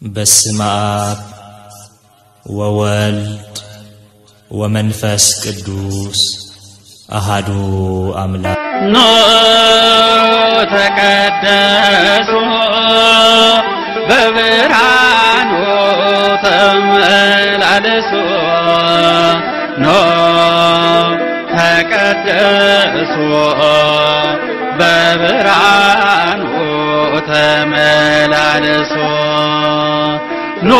በስመ አብ ወወልድ ወመንፈስ ቅዱስ አሃዱ አምላክ። ኖ ተቀደሱ በብርሃኑ ተመላለሱ። ኖ ተቀደሱ በብርሃኑ ተመላለሱ። ኖ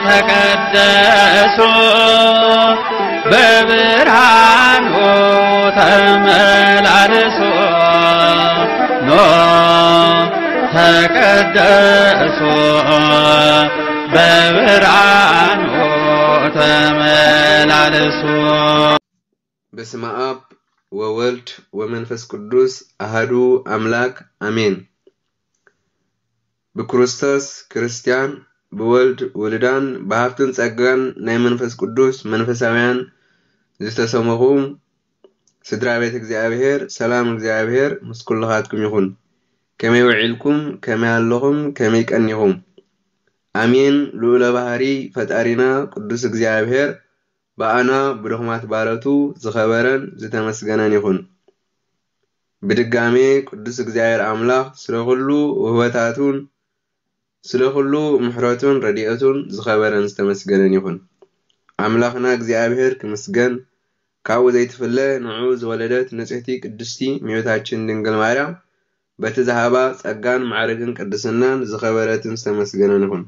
ተቀደሱ በብርሃኑ ተመላለሱ። ኖ ተቀደሱ በብርሃኑ ተመላለሱ። በስመ አብ ወወልድ ወመንፈስ ቅዱስ አሃዱ አምላክ አሜን። ብክርስቶስ ክርስቲያን፣ ብወልድ ውሉዳን፣ ብሃብትን ጸጋን ናይ መንፈስ ቅዱስ መንፈሳውያን ዝተሰመኹም ስድራ ቤት እግዚኣብሔር፣ ሰላም እግዚኣብሔር ምስ ኩልኻትኩም ይኹን። ከመይ ውዒልኩም? ከመይ ኣለኹም? ከመይ ቀኒኹም? ኣሜን። ልዑለ ባህሪ ፈጣሪና ቅዱስ እግዚኣብሔር ብኣና ብድኹማት ባረቱ ዝኸበረን ዝተመስገነን ይኹን። ብድጋሜ ቅዱስ እግዚኣብሔር ኣምላኽ ስለ ኩሉ ውህበታቱን ስለ ኩሉ ምሕረቱን ረድኤቱን ዝኸበረን ዝተመስገነን ይኹን። ኣምላኽና እግዚኣብሔር ክምስገን፣ ካብኡ ዘይትፍለ ንዑ ዝወለደት ንጽሕቲ ቅድስቲ እመቤታችን ድንግል ማርያም በቲ ዝሃባ ጸጋን ማዕርግን ቅድስናን ዝኸበረትን ዝተመስገነን ይኹን።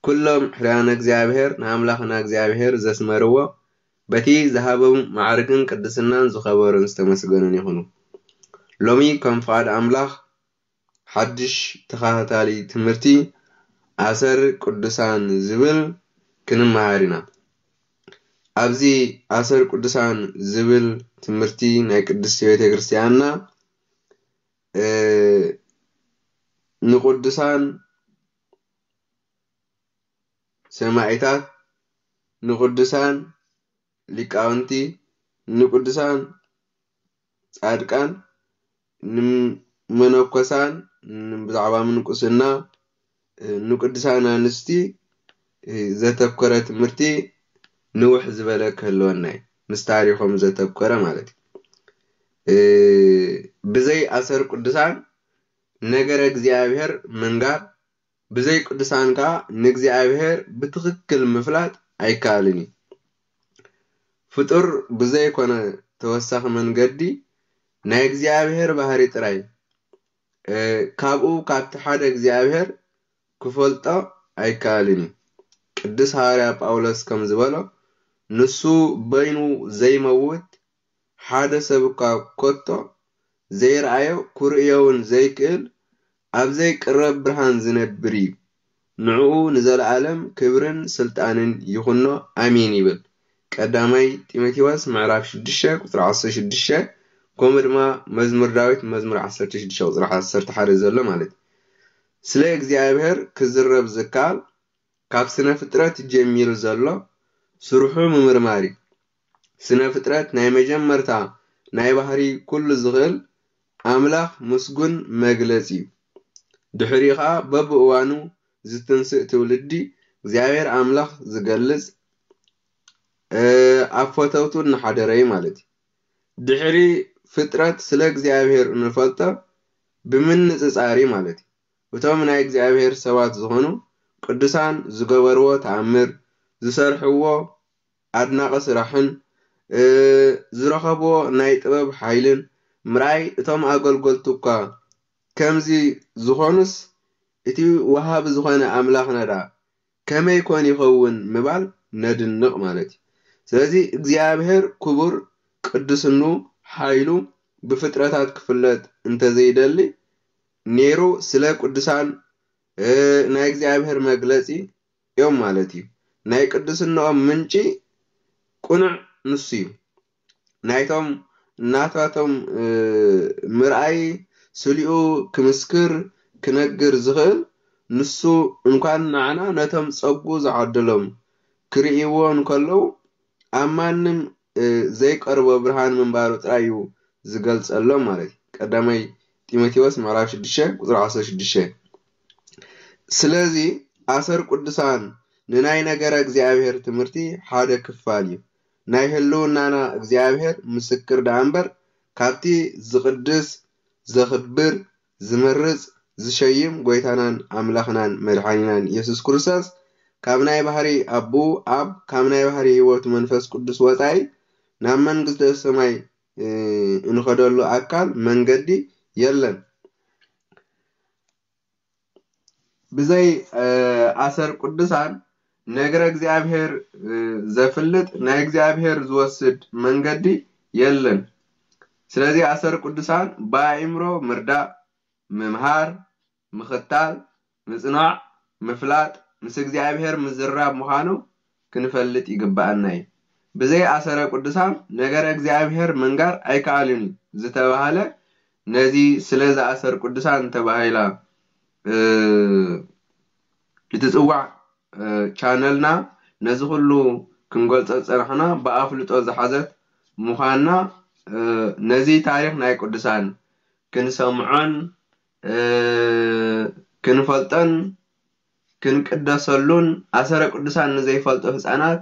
ኩሎም ሕርያነ እግዚኣብሔር ንኣምላኽና እግዚኣብሔር ዘስመርዎ በቲ ዝሃቦም ማዕርግን ቅድስናን ዝኸበሩን ዝተመስገኑን ይኹኑ። ሎሚ ከም ፍቓድ ኣምላኽ ሓድሽ ተኸታታሊ ትምህርቲ ኣሰር ቅዱሳን ዝብል ክንመሃር ኢና። ኣብዚ ኣሰር ቅዱሳን ዝብል ትምህርቲ ናይ ቅድስቲ ቤተ ክርስቲያንና እ፣ ንቅዱሳን ሰማዒታት፣ ንቅዱሳን ሊቃውንቲ፣ ንቅዱሳን ጻድቃን፣ ንመነኮሳን፣ ብዛዕባ ምንቁስና፣ ንቅዱሳን ኣንስቲ ዘተኮረ ትምህርቲ ንውሕ ዝበለ ክህልወና እዩ። ምስ ታሪኾም ዘተኮረ ማለት እዩ። ብዘይ ኣሰር ቅዱሳን ነገረ እግዚኣብሔር ምንጋር፣ ብዘይ ቅዱሳን ከኣ ንእግዚኣብሔር ብትኽክል ምፍላጥ ኣይከኣልን እዩ። ፍጡር ብዘይኮነ ተወሳኺ መንገዲ ናይ እግዚኣብሔር ባህሪ ጥራይ፣ እ፣ ካብኡ ካብቲ ሓደ እግዚኣብሔር ክፈልጦ ኣይከኣልን እዩ። ቅዱስ ሃዋርያ ጳውሎስ ከም ዝበሎ፣ ንሱ በይኑ ዘይመውት ሓደ ሰብ እኳ ከቶ ዘይረኣዮ ክርእዮ እውን ዘይክእል ኣብ ዘይቅረብ ብርሃን ዝነብር እዩ። ንዕኡ ንዘለኣለም ክብርን ስልጣንን ይኹኖ፣ ኣሜን ይብል። ቀዳማይ ጢሞቴዎስ ምዕራፍ ሽዱሽተ ቁጽሪ ዓሰርተ ሽዱሽተ፣ ከምኡ ድማ መዝሙር ዳዊት መዝሙር ዓሰርተ ሽዱሽተ ቁጽሪ ዓሰርተ ሓደ ዘሎ ማለት እዩ። ስለ እግዚኣብሔር ክዝረብ ዝከኣል ካብ ስነ ፍጥረት ጀሚሩ ዘሎ ስርሑ ምምርማር እዩ። ስነ ፍጥረት ናይ መጀመርታ ናይ ባህሪ ኩሉ ዝኽእል ኣምላኽ ምስጉን መግለጺ እዩ። ድሕሪኡ ኸኣ በብእዋኑ ዝትንስእ ትውልዲ እግዚኣብሔር ኣምላኽ ዝገልጽ፣ እ፣ ኣብ ፈተውቱ እናሓደረ እዩ ማለት እዩ። ድሕሪ ፍጥረት ስለ እግዚኣብሔር እንፈልጦ ብምንጽጻር እዩ ማለት እዩ። እቶም ናይ እግዚኣብሔር ሰባት ዝኾኑ ቅዱሳን ዝገበርዎ ተኣምር፣ ዝሰርሕዎ ኣድናቂ ስራሕን፣ እ፣ ዝረኸብዎ ናይ ጥበብ ሓይልን ምርኣይ፣ እቶም ኣገልገልቱ እኳ ከምዚ ዝኾኑስ እቲ ወሃቢ ዝኾነ ኣምላኽና ደኣ ከመይ ኮን ይኸውን ምባል ነድንቕ ማለት እዩ። ስለዚ እግዚኣብሔር ክቡር ቅዱስኑ ሓይሉ ብፍጥረታት ክፍለጥ እንተዘይደሊ ነይሩ ስለ ቅዱሳን፣ እ፣ ናይ እግዚኣብሔር መግለጺ እዮም ማለት እዩ። ናይ ቅዱስንኦም ምንጪ ቅኑዕ ንሱ እዩ። ናይቶም ናታቶም፣ እ፣ ምርኣይ ስሊኡ ክምስክር ክነግር ዝኽእል ንሱ እንኳን ንዓና ነቶም ጸጉ ዝዓደሎም ክርእይዎ እንከለዉ ኣብ ማንም፣ እ፣ ዘይቀርቦ ብርሃን ምንባሩ ጥራይ እዩ ዝገልጸሎም ማለት እዩ። ቀዳማይ ጢሞቴዎስ ምዕራፍ ሽዱሽተ ቁጽሪ ዓሰርተ ሽዱሽተ። ስለዚ ኣሰር ቅዱሳን ንናይ ነገረ እግዚኣብሔር ትምህርቲ ሓደ ክፋል እዩ። ናይ ህልውናና እግዚኣብሔር ምስክር ደኣ እምበር፣ ካብቲ ዝቕድስ፣ ዘኽብር፣ ዝመርጽ፣ ዝሸይም ጐይታናን ኣምላኽናን መድሓኒናን ኢየሱስ ክርስቶስ፣ ካብ ናይ ባህሪ ኣቦኡ ኣብ፣ ካብ ናይ ባህሪ ህይወቱ መንፈስ ቅዱስ ወጻኢ፣ ናብ መንግስተ ሰማይ፣ እ፣ እንኸደሉ ኣካል መንገዲ የለን። ብዘይ፣ እ፣ ኣሰር ቅዱሳን ነገረ እግዚኣብሔር፣ እ፣ ዘፍልጥ፣ ናይ እግዚኣብሔር ዝወስድ መንገዲ የለን። ስለዚ ኣሰር ቅዱሳን ብኣእምሮ ምርዳእ፣ ምምሃር፣ ምኽታል፣ ምጽናዕ፣ ምፍላጥ፣ ምስ እግዚኣብሔር ምዝርራብ ምዃኑ ክንፈልጥ ይግብኣና እዩ። ብዘይ ኣሰረ ቅዱሳን ነገረ እግዚኣብሔር ምንጋር ኣይከኣልን እዩ ዝተባህለ፣ ነዚ ስለዚ ኣሰር ቅዱሳን ተባሂላ፣ እ፣ እትጽዋዕ፣ እ፣ ቻነልና ነዚ ኩሉ ክንገልጾ ዝጸናሕና ብኣፍልጦ ዝሓዘት ምዃና፣ እ፣ ነዚ ታሪኽ ናይ ቅዱሳን ክንሰምዖን፣ እ፣ ክንፈልጦን ክንቅደሰሉን፣ ኣሰረ ቅዱሳን ንዘይፈልጡ ህጻናት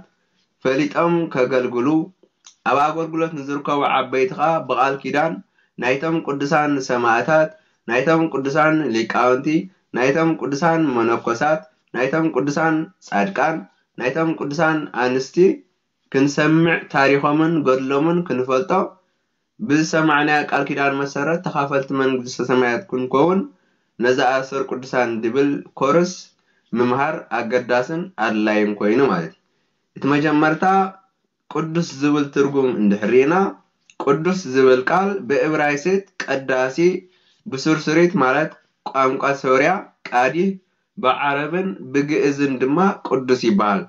ፈሊጦም ከገልግሉ፣ ኣብ ኣገልግሎት ንዝርከቡ ዓበይቲ ኸኣ ብቓል ኪዳን ናይቶም ቅዱሳን ሰማእታት፣ ናይቶም ቅዱሳን ሊቃውንቲ፣ ናይቶም ቅዱሳን መነኮሳት፣ ናይቶም ቅዱሳን ጻድቃን፣ ናይቶም ቅዱሳን ኣንስቲ ክንሰምዕ፣ ታሪኾምን ገድሎምን ክንፈልጦ፣ ብዝሰማዕናዮ ቃል ኪዳን መሰረት ተኻፈልቲ መንግስተ ሰማያት ክንከውን፣ ነዚ ኣሰር ቅዱሳን ድብል ኮርስ ምምሃር ኣገዳስን ኣድላይን ኮይኑ ማለት እዩ። እቲ መጀመርታ ቅዱስ ዝብል ትርጉም እንድሕር ርኢና፣ ቅዱስ ዝብል ቃል ብእብራይስጥ ቀዳሲ፣ ብሱርሱሪት ማለት ቋንቋ ሶርያ ቃዲህ፣ ብዓረብን ብግእዝን ድማ ቅዱስ ይበሃል።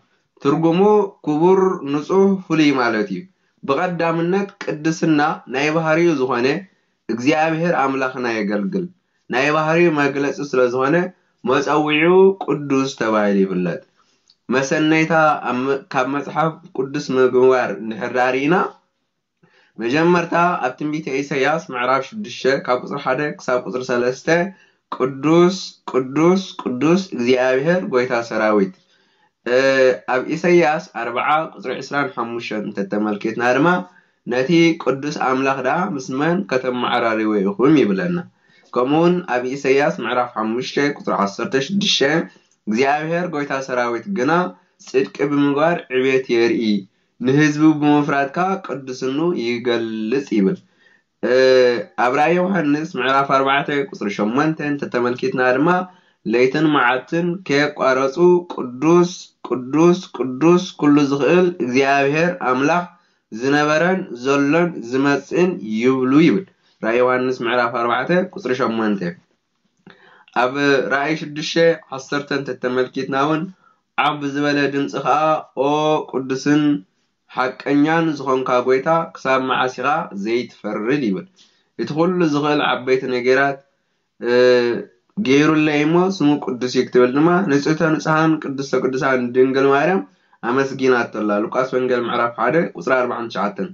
ትርጉሙ ክቡር፣ ንጹህ፣ ፍሉይ ማለት እዩ። ብቐዳምነት ቅድስና ናይ ባህሪኡ ዝኾነ እግዚኣብሔር ኣምላኽና የገልግል። ናይ ባህሪኡ መግለጺ ስለ ዝኾነ መጸውዒኡ ቅዱስ ተባሂሉ ይፍለጥ። መሰነይታ ኣብ መ-፣ ካብ መጽሓፍ ቅዱስ ምግባር እንድሕር ርኢና፣ መጀመርታ ኣብ ትንቢተ ኢሳይያስ ምዕራፍ ሽዱሽተ ካብ ቁጽሪ ሓደ ክሳብ ቁጽሪ ሰለስተ ቅዱስ፣ ቅዱስ፣ ቅዱስ እግዚኣብሔር ጐይታ ሰራዊት። እ፣ ኣብ ኢሳይያስ ኣርብዓ ቁጽሪ ዕስራን ሓሙሽተን እንተተመልኪትና ድማ ነቲ ቅዱስ ኣምላኽ ደኣ ምስ መን ከተመዓራርይዎ ኢኹም ይብለና። ከምኡውን ኣብ ኢሳይያስ ምዕራፍ ሓሙሽተ ቁጽሪ ዓሰርተ ሽዱሽተ እግዚኣብሔር ጐይታ ሰራዊት ግና ጽድቂ ብምግባር ዕቤት የርኢ፣ ንህዝቡ ብምፍራድ ከኣ ቅድስኑ ይገልጽ ይብል። እ፣ ኣብ ራእይ ዮሃንስ ምዕራፍ ኣርባዕተ ቁጽሪ ሸሞንተ እንተተመልኪትና ድማ ለይትን መዓልትን ከየቋረጹ ቅዱስ፣ ቅዱስ፣ ቅዱስ ኩሉ ዝኽእል እግዚኣብሔር ኣምላኽ ዝነበረን ዘሎን ዝመጽእን ይብሉ ይብል። ራእይ ዮሃንስ ምዕራፍ ኣርባዕተ ቁጽሪ ሸሞንተ። ኣብ ራእይ ሽዱሽተ ዓሰርተ እንተተመልኪትና እውን ዓብ ዝበለ ድምፂ ኸዓ ኦ ቅዱስን ሓቀኛን ዝኾንካ ጐይታ ክሳብ መዓስ ኢኻ ዘይትፈርድ ይብል። እቲ ኩሉ ዝኽእል ዓበይቲ ነገራት፣ እ፣ ገይሩለይ እሞ ስሙ ቅዱስ እዩ ክትብል ድማ ንጽህተ ንጹሃን ቅድስተ ቅዱሳን ድንግል ማርያም ኣመስጊናቶ ኣላ። ሉቃስ ወንጌል ምዕራፍ ሓደ ቁጽሪ ኣርባዓን ትሽዓተን።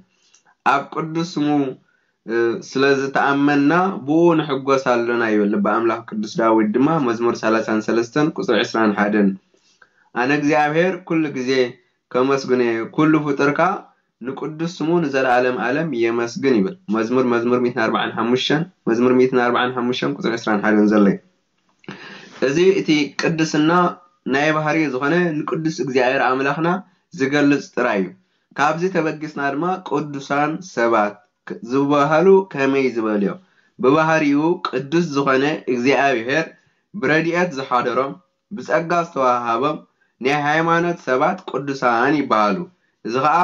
ኣብ ቅዱስ ስሙ፣ እ፣ ስለ ዝተኣመንና ብኡ ንሕጎስ ኣሎና ይብል ልበ ኣምላኽ ቅዱስ ዳዊት ድማ መዝሙር ሰላሳን ሰለስተን ቁጽሪ ዕስራን ሓደን። ኣነ እግዚኣብሔር ኩሉ ግዜ ከመስግኖ እየ፣ ኩሉ ፍጡር ከኣ ንቅዱስ ስሙ ንዘለኣለም ኣለም የመስግን ይብል። መዝሙር፣ መዝሙር ሚእትን ኣርባዓን ሓሙሽተን፣ መዝሙር ሚእትን ኣርባዓን ሓሙሽተን ቁጽሪ ዕስራን ሓደን ዘሎ እዩ። እዚ እቲ ቅድስና ናይ ባህሪ ዝኾነ ንቅዱስ እግዚኣብሔር ኣምላኽና ዝገልጽ ጥራይ እዩ። ካብዚ ተበጊስና ድማ ቅዱሳን ሰባት ክ-፣ ዝበሃሉ ከመይ ዝበሉ እዮም? ብባህሪኡ ቅዱስ ዝኾነ እግዚኣብሔር ብረድኤት ዝሓደሮም፣ ብጸጋ ዝተዋሃሃቦም ናይ ሃይማኖት ሰባት ቅዱሳን ይበሃሉ። እዚ ኸኣ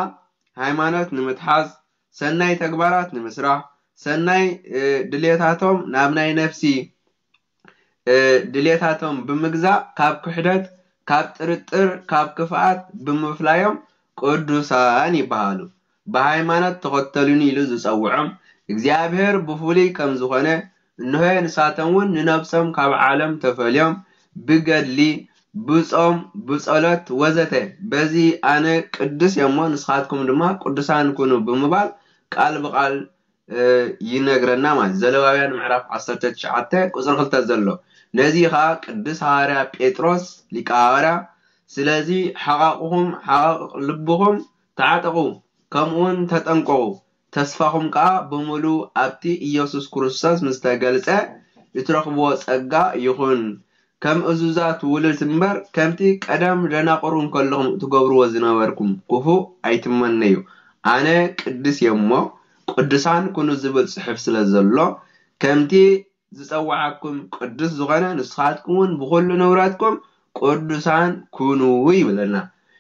ሃይማኖት ንምትሓዝ፣ ሰናይ ተግባራት ንምስራሕ፣ ሰናይ፣ እ፣ ድሌታቶም ናብ ናይ ነፍሲ፣ እ፣ ድሌታቶም ብምግዛእ ካብ ክሕደት፣ ካብ ጥርጥር፣ ካብ ክፍኣት ብምፍላዮም ቅዱሳን ይበሃሉ። ብሃይማኖት ተኸተሉኒ ኢሉ ዝጸውዖም እግዚኣብሔር ብፍሉይ ከም ዝኾነ፣ እንሆ ንሳቶም እውን ንነብሶም ካብ ዓለም ተፈልዮም ብገድሊ፣ ብጾም፣ ብጸሎት ወዘተ በዚ ኣነ ቅዱስ እየ እሞ ንስኻትኩም ድማ ቅዱሳን ኩኑ ብምባል ቃል ብቃል፣ እ፣ ይነግረና ማለት። ዘለዋውያን ምዕራፍ ዓሰርተ ትሽዓተ ቁጽሪ ክልተ ዘሎ። ነዚ ኸኣ ቅዱስ ሃዋርያ ጴጥሮስ ሊቀ ሃዋርያ፣ ስለዚ ሓቓቕኹም ሓቓቕ ልብኹም ተዓጠቑ፣ ከምኡውን ተጠንቀቑ፣ ተስፋኹም ከኣ ብምሉእ ኣብቲ ኢየሱስ ክርስቶስ ምስ ተገልጸ እትረኽብዎ ጸጋ ይኹን። ከም እዙዛት ውሉድ እምበር፣ ከምቲ ቀደም ደናቑር እንከለኹም እትገብርዎ ዝነበርኩም ክፉእ ኣይትመነዩ። ኣነ ቅዱስ እየ እሞ ቅዱሳን ኩኑ ዝብል ጽሑፍ ስለ ዘሎ፣ ከምቲ ዝጸውዓኩም ቅዱስ ዝኾነ፣ ንስኻትኩም እውን ብኹሉ ንብረትኩም ቅዱሳን ኩኑ ይብለና።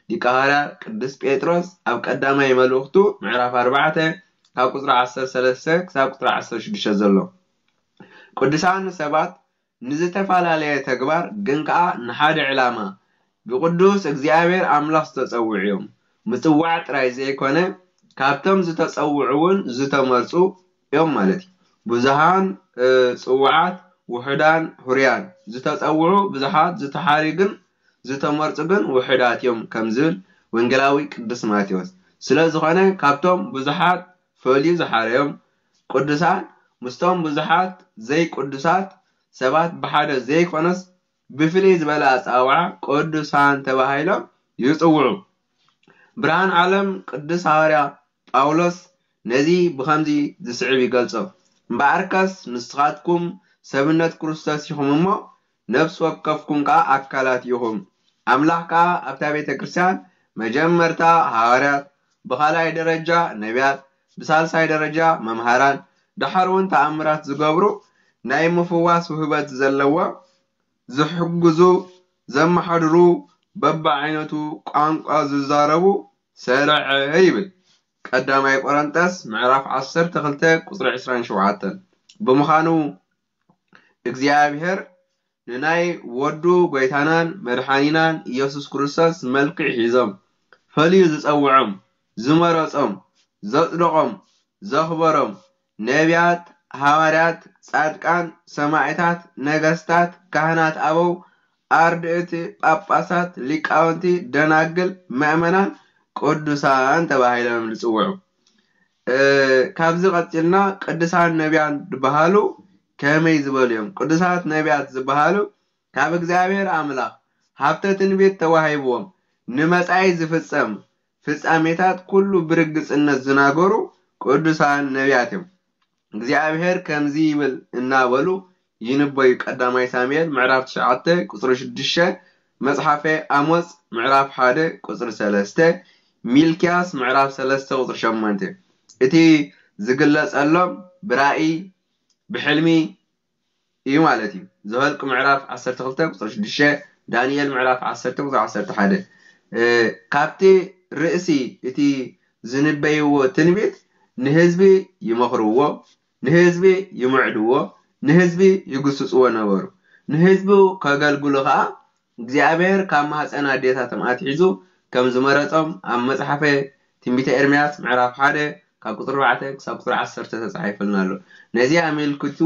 ሊቀ ሃዋርያ ቅዱስ ጴጥሮስ ኣብ ቀዳማይ መልእኽቱ ምዕራፍ ኣርባዕተ ካብ ቁጽሪ ዓሰርተ ሰለስተ ክሳብ ቁጽሪ ዓሰርተ ሽዱሽተ ዘሎ። ቅዱሳን ሰባት ንዝተፈላለየ ተግባር ግን ከኣ ንሓደ ዕላማ ብቅዱስ እግዚኣብሔር ኣምላኽ ዝተጸውዑ እዮም። ምጽዋዕ ጥራይ ዘይኮነ፣ ካብቶም ዝተጸውዑ እውን ዝተመርጹ እዮም ማለት እዩ። ብዙሃን፣ እ፣ ጽውዓት፣ ውሑዳን ሁርያን፣ ዝተጸውዑ ብዙሓት፣ ዝተሓርዩ ግን፣ ዝተመርጹ ግን ውሑዳት እዮም ከም ዝብል ወንጌላዊ ቅዱስ ማቴዎስ። ስለ ዝኾነ ካብቶም ብዙሓት ፈልዩ ዝሓረዮም ቅዱሳን ምስቶም ብዙሓት ዘይቅዱሳት ሰባት ብሓደ ዘይኮነስ ብፍልይ ዝበለ ኣጸዋውዓ ቅዱሳን ተባሂሎም ይጽውዑ። ብርሃን ዓለም ቅዱስ ሃዋርያ ጳውሎስ ነዚ ብኸምዚ ዝስዕብ ይገልጾ። እምበኣርከስ ንስኻትኩም ሰብነት ክርስቶስ ኢኹም እሞ፣ ነፍሲ ወከፍኩም ከኣ ኣካላት ኢኹም። ኣምላኽ ከኣ ኣብታ ቤተ ክርስቲያን መጀመርታ ሃዋርያት፣ ብኻልኣይ ደረጃ ነቢያት፣ ብሳልሳይ ደረጃ መምሃራን፣ ደሓር እውን ተኣምራት ዝገብሩ፣ ናይ ምፍዋስ ውህበት ዘለዎም፣ ዝሕግዙ፣ ዘመሓድሩ፣ በብዓይነቱ ቋንቋ ዝዛረቡ ሰረዐ ይብል። ቀዳማይ ቆረንጠስ ምዕራፍ ዓሰርተ ክልተ ቁጽሪ ዕስራን ሸውዓተን። ብምዃኑ እግዚኣብሔር ንናይ ወዱ ጎይታናን መድሓኒናን ኢየሱስ ክርስቶስ መልክዕ ሒዞም ፈልዩ ዝጸውዖም፣ ዝመረጾም፣ ዘጽደቖም፣ ዘኽበሮም ነቢያት፣ ሃዋርያት፣ ጻድቃን፣ ሰማዕታት፣ ነገስታት፣ ካህናት ኣበው፣ ኣርድእቲ፣ ጳጳሳት፣ ሊቃውንቲ፣ ደናግል፣ ምእመናን፣ ቅዱሳን ተባሂሎም ዝጽውዑ። እ፣ ካብዚ ቀጺልና ቅዱሳን ነቢያን ዝበሃሉ ከመይ ዝበሉ እዮም? ቅዱሳት ነቢያት ዝበሃሉ ካብ እግዚኣብሔር ኣምላኽ ሃብተ ትንቢት ተዋሂብዎም ንመጻኢ ዝፍጸም ፍጻሜታት ኩሉ ብርግጽነት ዝናገሩ ቅዱሳን ነቢያት እዮም። እግዚኣብሔር ከምዚ ይብል እናበሉ ይንበዩ። ቀዳማይ ሳሙኤል ምዕራፍ ትሽዓተ ቁጽሪ ሽዱሽተ፣ መጽሓፈ ኣሞጽ ምዕራፍ ሓደ ቁጽሪ ሰለስተ፣ ሚልክያስ ምዕራፍ ሰለስተ ቁጽሪ ሸሞንተ። እቲ ዝግለጸሎም ብራእይ፣ ብሕልሚ እዩ ማለት እዩ። ዘኍልቁ ምዕራፍ ዓሰርተ ክልተ ቁጽሪ ሽዱሽተ፣ ዳንኤል ምዕራፍ ዓሰርተ ቁጽሪ ዓሰርተ ሓደ። እ፣ ካብቲ ርእሲ እቲ ዝንበይዎ ትንቢት ንህዝቢ ይመኽርዎ፣ ንህዝቢ ይምዕድዎ፣ ንህዝቢ ይግስጽዎ ነበሩ። ንህዝቡ ከገልግሉ ኸኣ እግዚኣብሔር ካብ ማህፀን ኣዴታቶም ኣትሒዙ ከም ዝመረጾም ኣብ መጽሓፈ ትንቢተ ኤርምያስ ምዕራፍ ሓደ ካብ ቁጽሪ ኣርባዕተ ክሳብ ቁጽሪ ዓሰርተ ተጻሒፉልና ኣሎ። ነዚ ኣመልኪቱ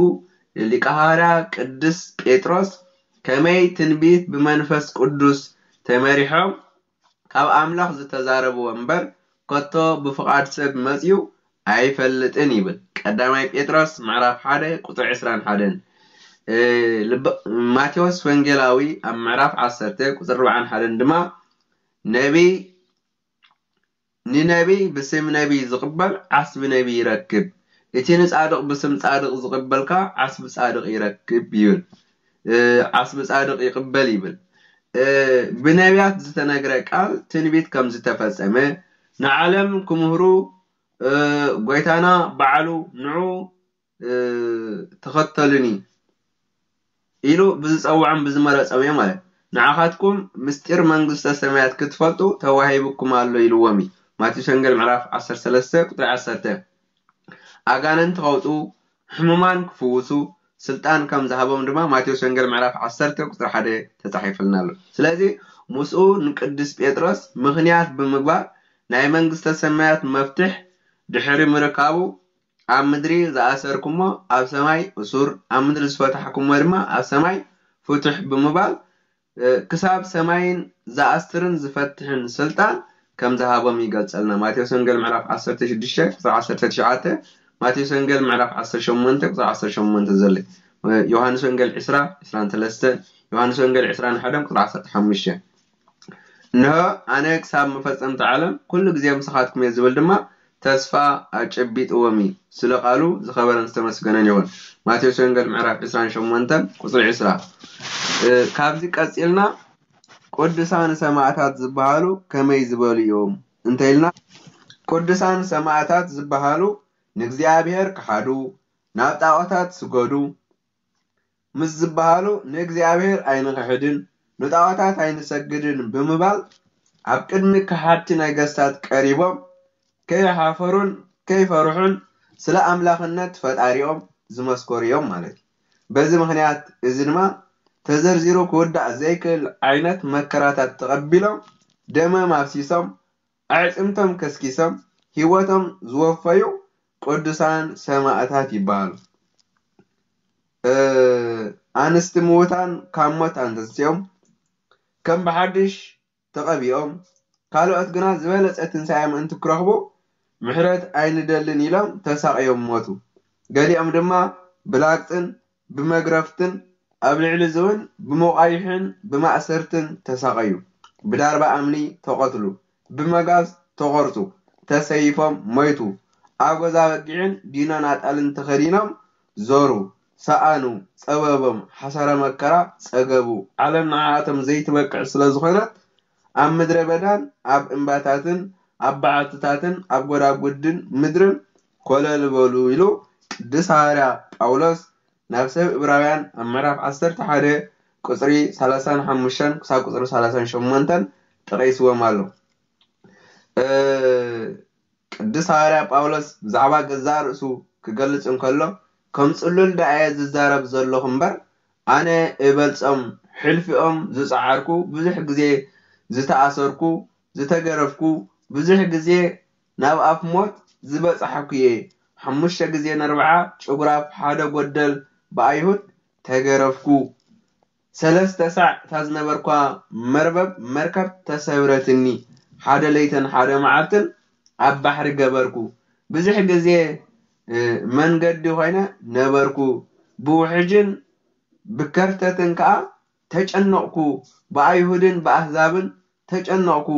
ሊቀ ሃዋርያ ቅዱስ ጴጥሮስ ከመይ ትንቢት ብመንፈስ ቅዱስ ተመሪሖም ካብ ኣምላኽ ዝተዛረብዎ እምበር ከቶ ብፍቓድ ሰብ መጺኡ ኣይፈልጥን ይብል። ቀዳማይ ጴጥሮስ ምዕራፍ ሓደ ቁጽሪ ዕስራን ሓደን። እ፣ ልብ-፣ ማቴዎስ ወንጌላዊ ኣብ ምዕራፍ ዓሰርተ ቁጽሪ ኣርባዓን ሓደን ድማ ነቢይ፣ ንነቢይ ብስም ነቢይ ዝቕበል ዓስቢ ነቢይ ይረክብ፣ እቲ ንጻድቕ ብስም ጻድቕ ዝቕበል ከኣ ዓስቢ ጻድቕ ይረክብ ይብል። እ፣ ዓስቢ ጻድቕ ይቕበል ይብል። እ፣ ብነቢያት ዝተነግረ ቃል ትንቢት ከም ዝተፈጸመ፣ ንዓለም ክምህሩ፣ እ፣ ጎይታና ባዕሉ ንዑ፣ እ፣ ተኸተሉኒ ኢሉ ብዝጸውዖም ብዝመረጾም እዮም ማለት። ንዓኻትኩም ምስጢር መንግስተ ሰማያት ክትፈልጡ ተዋሂቡኩም ኣሎ ኢልዎም እዩ። ማቴዎስ ወንጌል ምዕራፍ ዓሰርተ ሰለስተ ቁጽሪ ዓሰርተ። ኣጋንንቲ ከውጡ፣ ሕሙማን ክፍውሱ ስልጣን ከም ዝሃቦም ድማ ማቴዎስ ወንጌል ምዕራፍ ዓሰርተ ቁጽሪ ሓደ ተጻሒፉልና ኣሎ። ስለዚ ምስኡ ንቅዱስ ጴጥሮስ ምኽንያት ብምግባር ናይ መንግስተ ሰማያት መፍትሕ ድሕሪ ምርካቡ ኣብ ምድሪ ዝኣሰርኩሞ ኣብ ሰማይ እሱር፣ ኣብ ምድሪ ዝፈታሕኩሞ ድማ ኣብ ሰማይ ፍቱሕ ብምባል፣ እ፣ ክሳብ ሰማይን ዝኣስርን ዝፈትሕን ስልጣን ከም ዝሃቦም ይገልጸልና። ማቴዎስ ወንጌል ምዕራፍ ዓሰርተ ሽዱሽተ ቁጽሪ ዓሰርተ ትሽዓተ፣ ማቴዎስ ወንጌል ምዕራፍ ዓሰርተ ሸሞንተ ቁጽሪ ዓሰርተ ሸሞንተ ዘሎ። ዮሃንስ ወንጌል ዕስራ ዕስራን ሰለስተን፣ ዮሃንስ ወንጌል ዕስራን ሓደን ቁጽሪ ዓሰርተ ሓሙሽተ። እንሆ ኣነ ክሳብ መፈጸምቲ ዓለም ኩሉ ግዜ ምሳኻትኩም እየ ዝብል ድማ ተስፋ ኣጨቢጥዎም እዩ። ስለ ቃሉ ዝኸበረን ዝተመስገነን ይኹን። ማቴዎስ ወንጌል ምዕራፍ ዕስራን ሸሞንተን ቁጽሪ ዕስራ። እ፣ ካብዚ ቀጺልና ቅዱሳን ሰማዕታት ዝበሃሉ ከመይ ዝበሉ እዮም እንተኢልና፣ ቅዱሳን ሰማዕታት ዝበሃሉ ንእግዚኣብሔር ክሓዱ፣ ናብ ጣዖታት ስገዱ ምስ ዝበሃሉ፣ ንእግዚኣብሔር ኣይንኽሕድን ንጣዖታት ኣይንሰግድን ብምባል ኣብ ቅድሚ ከሓድቲ ነገስታት ቀሪቦም ከይሓፈሩን ከይፈርሑን ስለ ኣምላኽነት ፈጣሪኦም ዝመስከሩ እዮም ማለት እዩ። በዚ ምኽንያት እዚ ድማ ተዘርዚሩ ክውዳእ ዘይክእል ዓይነት መከራታት ተቐቢሎም ደሞም ኣፍሲሶም ኣዕጽምቶም ከስኪሶም ህይወቶም ዝወፈዩ ቅዱሳን ሰማእታት ይበሃሉ። እ፣ ኣንስቲ ምዉታን ካብ ሞት ኣንተንሲኦም ከም ብሓድሽ ተቐቢኦም፣ ካልኦት ግና ዝበለጸ ትንሳኤ ምእንቲ ክረኽቡ ምሕረት ኣይንደልን ኢሎም ተሳቕዮም ሞቱ። ገሊኦም ድማ ብላግጽን ብመግረፍትን ኣብ ልዕሊ እዚ እውን ብመቋይሕን ብማእሰርትን ተሳቐዩ። ብዳርባ ኣምኒ ተቐትሉ፣ ብመጋዝ ተቖርጹ፣ ተሰይፎም ሞይቱ። ኣጎዛ በጊዕን ዲኖን ኣጣልን ተኸዲኖም ዞሩ፣ ሰኣኑ፣ ጸበቦም፣ ሓሳረ መከራ ጸገቡ። ዓለም ንዓኣቶም ዘይትበቅዕ ስለ ዝኾነት ኣብ ምድረ በዳን ኣብ እምባታትን ኣብ በዓትታትን ኣብ ጎዳጉድን ምድርን ኮለል በሉ ኢሉ ቅዱስ ሃዋርያ ጳውሎስ ናብ ሰብ ዕብራውያን ኣብ ምዕራፍ ዓሰርተ ሓደ ቁጽሪ ሰላሳን ሓሙሽተን ክሳብ ቁጽሪ ሰላሳን ሸሞንተን ጠቒስዎም ኣሎ። እ፣ ቅዱስ ሃዋርያ ጳውሎስ ብዛዕባ ገዛእ ርእሱ ክገልጽ እንከሎ፣ ከም ጽሉል ደኣ እየ ዝዛረብ ዘለኹ እምበር፣ ኣነ እበልጾም፣ ሕልፊኦም ዝጸዓርኩ፣ ብዙሕ ግዜ ዝተኣሰርኩ፣ ዝተገረፍኩ፣ ብዙሕ ግዜ ናብ ኣፍ ሞት ዝበጻሕኩ እየ። ሓሙሽተ ግዜ ነርብዓ ጭጉራፍ ሓደ ጎደል ብኣይሁድ ተገረፍኩ። ሰለስተ ሳዕ እታ ዝነበርኳ መርበብ መርከብ ተሰብረትኒ። ሓደ ለይትን ሓደ መዓልትን ኣብ ባሕሪ ገበርኩ። ብዙሕ ግዜ፣ እ፣ መንገዲ ኮይነ ነበርኩ። ብውሕጅን ብከርተትን ከኣ ተጨነቕኩ። ብኣይሁድን ብኣህዛብን ተጨነቕኩ።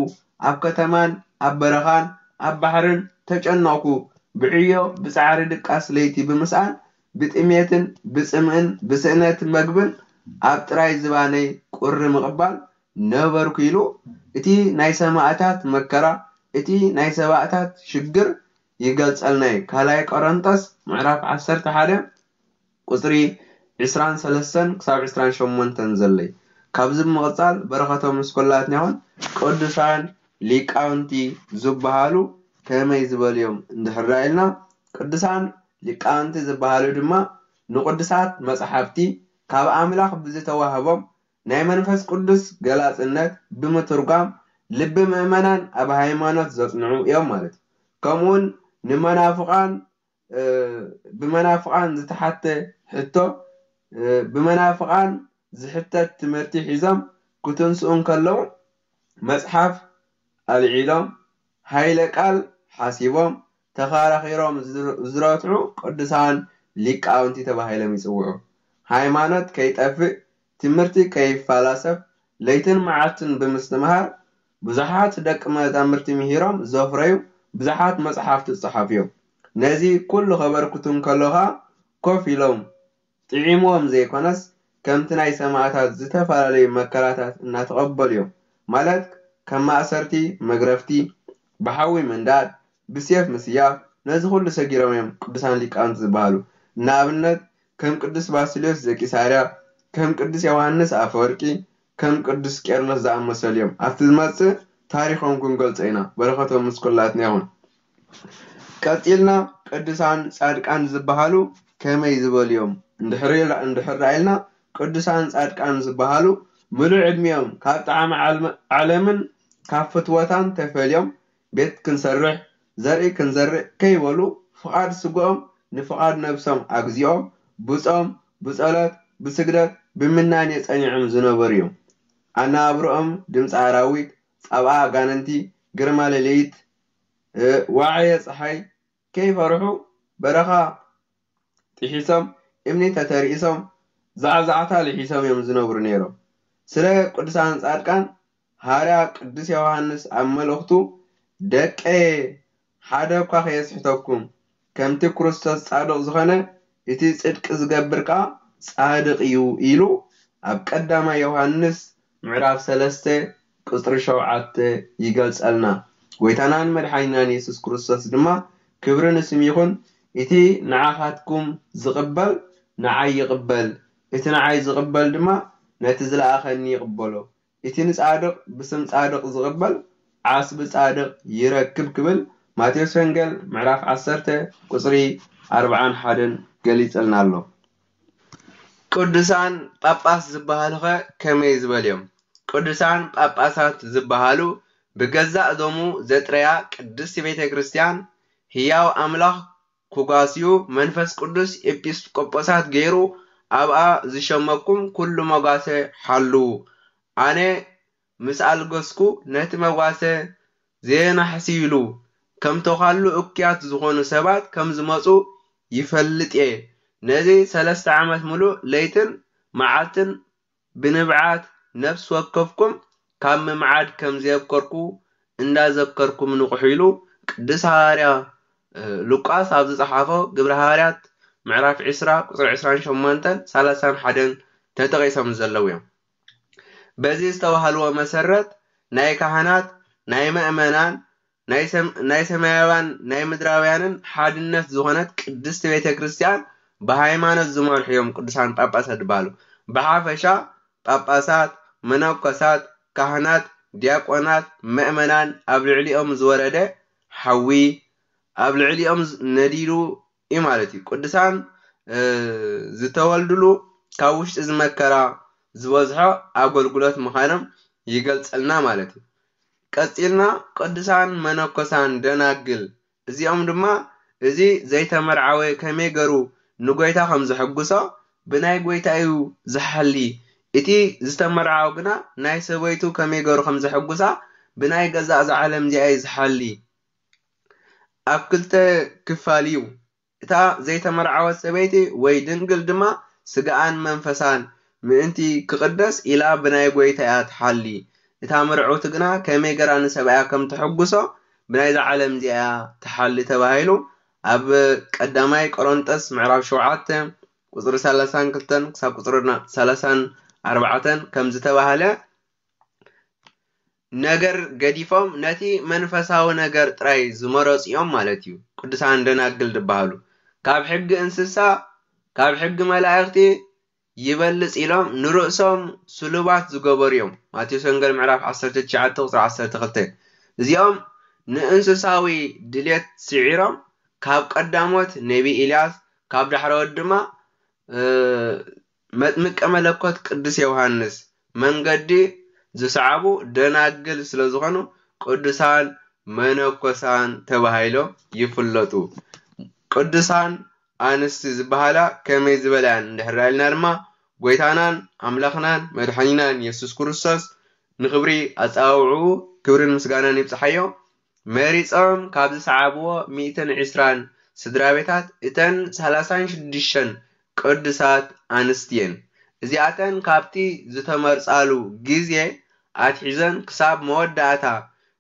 ኣብ ከተማን ኣብ በረኻን ኣብ ባሕርን ተጨነቕኩ። ብዕዮ ብጻዕሪ ድቃስ ለይቲ ብምስኣን ብጥሜትን ብጽምእን ብስእነት መግብን ኣብ ጥራይ ዝባነይ ቁሪ ምቕባል ነበርኩ ኢሉ እቲ ናይ ሰማእታት መከራ፣ እቲ ናይ ሰማእታት ሽግር ይገልጸልና እዩ። ካልኣይ ቆሮንቶስ ምዕራፍ ዓሰርተ ሓደ ቁጽሪ ዕስራን ሰለስተን ክሳብ ዕስራን ሸሞንተን ዘለይ። ካብዚ ብምቕጻል በረኸቶም ምስ ኩላትና ይኹን። ቅዱሳን ሊቃውንቲ ዝበሃሉ ከመይ ዝበሉ እዮም እንድሕር ኢልና፣ ቅዱሳን ሊቃውንቲ ዝበሃሉ ድማ ንቅዱሳት መጻሕፍቲ ካብ ኣምላኽ ብዝተዋህቦም ናይ መንፈስ ቅዱስ ገላጽነት ብምትርጓም ልቢ ምእመናን ኣብ ሃይማኖት ዘጽንዑ እዮም ማለት እዩ። ከምኡውን ንመናፍቓን፣ እ፣ ብመናፍቓን ዝተሓተ ሕቶ፣ እ፣ ብመናፍቓን ዝሕተት ትምህርቲ ሒዞም ክትንስኡ እንከለዉ መጽሓፍ ኣልዒሎም፣ ሃይለ ቃል ሓሲቦም፣ ተኸራኺሮም ዝር-፣ ዝረትዑ ቅዱሳን ሊቃውንቲ ተባሂሎም ይጽውዑ። ሃይማኖት ከይጠፍእ፣ ትምህርቲ ከይፈላሰፍ፣ ለይትን መዓልትን ብምስትምሃር፣ ብዙሓት ደቂ መዛሙርቲ ምሂሮም ዘፍረዩ ብዙሓት መጽሓፍቲ ዝጸሓፉ እዮም። ነዚ ኩሉ ከበርክቱ እንከሎ ኸኣ ኮፍ ኢሎም ጥዒምዎም ዘይኮነስ፣ ከምቲ ናይ ሰማእታት ዝተፈላለዩ መከራታት እናተቐበሉ እዮም። ማለት ከም ማእሰርቲ፣ መግረፍቲ፣ ብሓዊ ምንዳድ፣ ብሴፍ ምስያፍ፣ ነዚ ኩሉ ሰጊሮም እዮም ቅዱሳን ሊቃውንቲ ዝበሃሉ። ንኣብነት ከም ቅዱስ ባስልዮስ ዘቂሳርያ፣ ከም ቅዱስ ዮሃንስ ኣፈወርቂ፣ ከም ቅዱስ ቄርሎስ ዝኣመሰሉ እዮም። ኣብቲ ዝመጽእ ታሪኾም ክንገልጾ ኢና። በረኸቶም ምስ ኩላትና ይኹን። ቀጺልና ቅዱሳን ጻድቃን ዝበሃሉ ከመይ ዝበሉ እዮም? እንድሕር ኢልና፣ እንድሕር ኢልና ቅዱሳን ጻድቃን ዝበሃሉ ምሉእ ዕድሚኦም ካብ ጣዕሚ ዓልመ-፣ ዓለምን ካብ ፍትወታን ተፈልዮም ቤት ክንሰርሕ፣ ዘርኢ ክንዘርእ ከይበሉ ፍቓድ ስግኦም ንፍቓድ ነብሶም ኣግዚኦም ብጾም፣ ብጸሎት፣ ብስግደት፣ ብምናኔ ጸኒዖም ዝነበሩ እዮም። ኣነባብርኦም ድምጺ ኣራዊት፣ ጻብኣ ኣጋንንቲ፣ ግርማ ሌሊት፣ እ፣ ዋዕየ ጸሓይ ከይፈርሑ በረኻ ጥሒሶም፣ እምኒ ተተርኢሶም፣ ዛዕዛዕታ ልሒሶም እዮም ዝነብሩ ነይሮም። ስለ ቅዱሳን ጻድቃን ሃርያ ቅዱስ ዮሃንስ ኣብ መልእኽቱ፣ ደቀየ፣ ሓደ እኳ ከየስሕተኩም፣ ከምቲ ክርስቶስ ጻድቕ ዝኾነ፣ እቲ ጽድቂ ዝገብር ከኣ ጻድቕ እዩ ኢሉ ኣብ ቀዳማይ ዮሃንስ ምዕራፍ ሰለስተ ቁጽሪ ሸውዓተ ይገልጸልና። ጎይታናን መድሓኒናን የሱስ ክርስቶስ ድማ፣ ክብሪ ንስም ይኹን፣ እቲ ንዓኻትኩም ዝቕበል ንዓይ ይቕበል፣ እቲ ንዓይ ዝቕበል ድማ ነቲ ዝለኣኸኒ ይቕበሎ። እቲ ንጻድቕ ብስም ጻድቕ ዝቕበል ዓስቢ ጻድቕ ይረክብ ክብል ማቴዎስ ወንጌል ምዕራፍ ዓሰርተ ቁጽሪ ኣርብዓን ሓደን ገሊጽልና ኣሎ። ቅዱሳን ጳጳስ ዝበሃሉኸ ከመይ ዝበሉ እዮም? ቅዱሳን ጳጳሳት ዝበሃሉ ብገዛእ ደሙ ዘጥረያ ቅድስቲ ቤተ ክርስቲያን ህያው ኣምላኽ ኩጋስዩ መንፈስ ቅዱስ ኤጲስቆጶሳት ገይሩ ኣብኣ ዝሸመኩም ኩሉ መጓሰ ሓልዉ። ኣነ ምስ ኣልገስኩ ነቲ መጓሰ ዘየናሕስይሉ ከም ተዃሉ እኩያት ዝኾኑ ሰባት ከም ዝመጹ ይፈልጥ እየ። ነዚ ሰለስተ ዓመት ምሉእ ለይትን መዓልትን ብንብዓት ነፍሲ ወከፍኩም ካብ ምምዓድ ከም ዘየብከርኩ እንዳዘከርኩም ንቑሑ ኢሉ ቅዱስ ሃዋርያ ሉቃስ ኣብ ዝጸሓፎ ግብረ ሃዋርያት ምዕራፍ ዕስራ ቁጽሪ ዕስራን ሸሞንተን ሰላሳን ሓደን ተጠቒሶም ዘለዉ እዮም። በዚ ዝተባህልዎ መሰረት ናይ ካህናት፣ ናይ መእመናን፣ ናይ ሰም- ናይ ሰማያውያን ናይ ምድራውያንን ሓድነት ዝኾነት ቅድስቲ ቤተ ክርስቲያን ብሃይማኖት ዝመርሑ እዮም ቅዱሳን ጳጳሳት ዝበሃሉ። ብሓፈሻ ጳጳሳት፣ መነኮሳት፣ ካህናት፣ ዲያቆናት፣ መእመናን ኣብ ልዕሊኦም ዝወረደ ሓዊ ኣብ ልዕሊኦም ነዲዱ እዩ ማለት እዩ። ቅዱሳን ዝተወልድሉ ካብ ውሽጢ ዝመከራ ዝበዝሖ ኣገልግሎት ምዃኖም ይገልጸልና ማለት እዩ። ቀጺልና ቅዱሳን መነኮሳን ደናግል እዚኦም ድማ እዚ ዘይተመርዓወ ከመይ ገሩ ንጎይታ ከም ዘሐጉሶ ብናይ ጎይታ እዩ ዝሓሊ። እቲ ዝተመርዓወ ግና ናይ ሰበይቱ ከመይ ገሩ ከም ዘሐጉሳ ብናይ ገዛእ እዛ ዓለም እዚኣ እዩ ዝሓሊ። ኣብ ክልተ ክፋል እዩ። እታ ዘይተመርዓወት ሰበይቲ ወይ ድንግል ድማ ስጋኣን መንፈሳን ምእንቲ ክቕደስ ኢላ ብናይ ጎይታ እያ ትሓሊ። እታ ምርዕውቲ ግና ከመይ ገራ ንሰብኣያ ከም ተሐጉሶ ብናይዛ ዓለም እዚኣ እያ ትሓሊ ተባሂሉ ኣብ ቀዳማይ ቆሮንጦስ ምዕራፍ ሸውዓተ ቁጽሪ ሰላሳን ክልተን ክሳብ ቁጽሪ ሰላሳን ኣርባዕተን ከም ዝተባህለ ነገር ገዲፎም ነቲ መንፈሳዊ ነገር ጥራይ ዝመረጹ እዮም ማለት እዩ። ቅዱሳን ደናግል ዝበሃሉ ካብ ሕጊ እንስሳ ካብ ሕጊ መላእኽቲ ይበልጽ ኢሎም ንርእሶም ስሉባት ዝገበሩ እዮም። ማቴዎስ ወንጌል ምዕራፍ ዓሰርተ ትሽዓተ ቁጽሪ ዓሰርተ ክልተ። እዚኦም ንእንስሳዊ ድሌት ስዒሮም ካብ ቀዳሞት ነቢ ኢልያስ ካብ ዳሕረዎት ድማ መጥምቀ መለኮት ቅዱስ ዮሃንስ መንገዲ ዝሰዓቡ ደናግል ስለ ዝኾኑ ቅዱሳን መነኮሳን ተባሂሎም ይፍለጡ። ቅዱሳን ኣንስቲ ዝበሃላ ከመይ ዝበላ እየን እንድሕር ኢልና ድማ ጎይታናን ኣምላኽናን መድሓኒናን የሱስ ክርስቶስ ንኽብሪ ኣጸዋውዕኡ ክብርን ምስጋናን ይብጽሓዮ መሪጾም ካብ ዝሰዓብዎ ሚእትን ዕስራን ስድራ ቤታት እተን ሰላሳን ሽዱሽተን ቅዱሳት ኣንስቲ እየን። እዚኣተን ካብቲ ዝተመርጻሉ ግዜ ኣትሒዘን ክሳብ መወዳእታ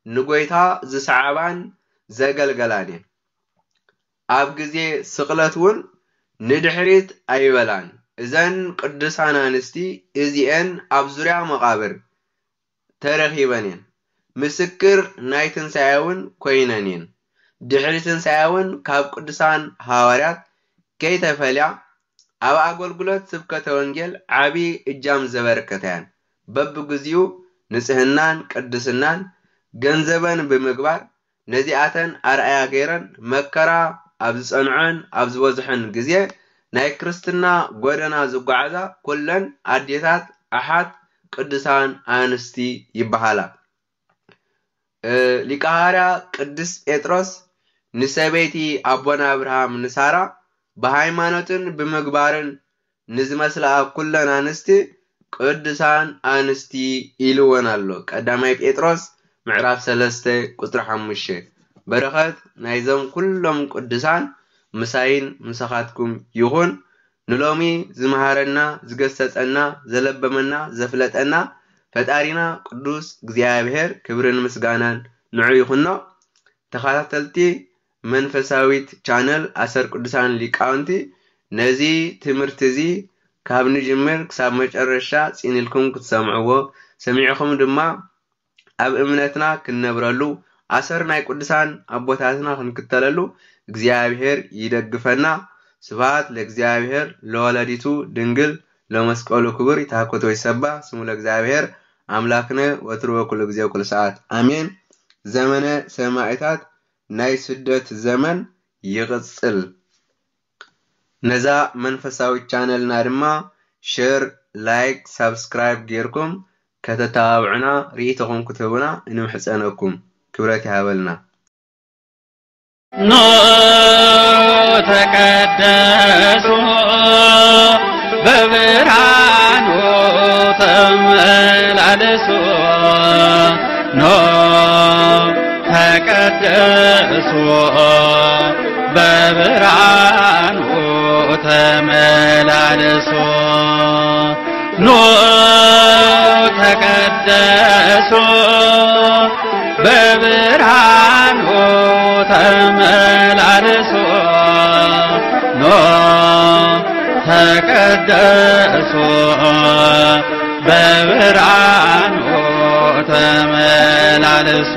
ንጎይታ ዝሰዓባን ዘገልገላን እየን። ኣብ ግዜ ስቕለት እውን ንድሕሪት ኣይበላን። እዘን ቅዱሳን ኣንስቲ እዚኤን ኣብ ዙርያ መቓብር ተረኺበን እየን። ምስክር ናይ ትንሳኤ እውን ኮይነን እየን። ድሕሪ ትንሳኤ እውን ካብ ቅዱሳን ሃዋርያት ከይተፈልያ ኣብ ኣገልግሎት ስብከተ ወንጌል ዓቢ እጃም ዘበርከታ እየን። በብግዚኡ ንጽህናን ቅድስናን ገንዘበን ብምግባር ነዚኣተን ኣርኣያ ገይረን መከራ ኣብ ዝጸንዖን ኣብ ዝበዝሖን ግዜ ናይ ክርስትና ጎደና ዝጓዓዛ ኩለን ኣዴታት ኣሓት ቅዱሳን ኣንስቲ ይበሃላ። ሊቀ ሃዋርያ ቅዱስ ጴጥሮስ ንሰበይቲ ኣቦና ኣብርሃም ንሳራ ብሃይማኖትን ብምግባርን ንዝመስላ ኩለን ኣንስቲ ቅዱሳን ኣንስቲ ኢልወን ኣሎ። ቀዳማይ ጴጥሮስ ምዕራፍ ሰለስተ ቁጽሪ ሓሙሽተ። በረኸት ናይዞም ኩሎም ቅዱሳን ምሳይን ምሳኻትኩም ይኹን። ንሎሚ ዝመሃረና፣ ዝገሰጸና፣ ዘለበመና፣ ዘፍለጠና ፈጣሪና ቅዱስ እግዚኣብሔር ክብርን ምስጋናን ንዑ ይኹኖ። ተኸታተልቲ መንፈሳዊት ቻነል ኣሰር ቅዱሳን ሊቃውንቲ፣ ነዚ ትምህርቲ እዚ ካብ ንጅምር ክሳብ መጨረሻ ጽን ኢልኩም ክትሰምዕዎ፣ ሰሚዕኹም ድማ ኣብ እምነትና ክንነብረሉ፣ ኣሰር ናይ ቅዱሳን ኣቦታትና ክንክተለሉ እግዚኣብሔር ይደግፈና። ስብሐት ለእግዚኣብሔር ለወላዲቱ ድንግል ለመስቀሉ ክቡር። ይትሐኮት ወይሰባ ስሙ ለእግዚኣብሔር ኣምላክነ ወትሩ ወኩሉ ግዜ ወኩሉ ሰዓት ኣሜን። ዘመነ ሰማዕታት ናይ ስደት ዘመን ይቕጽል። ነዛ መንፈሳዊት ቻነልና ድማ ሼር፣ ላይክ፣ ሳብስክራይብ ጌርኩም ከተተባብዑና፣ ርኢቶኹም ክትህቡና ንምሕጸነኩም። ክብረት ይሃበልና። ኑ ተቀደሱ በብርሃኑ ተመላለሱ። ኑ ተቀደሱ በብርሃኑ ተመላለሱ። ኑ ተቀደሱ በብርሃኑ ተመላለሱ። ኑ ተቀደሱ በብርሃኑ ተመላለሱ።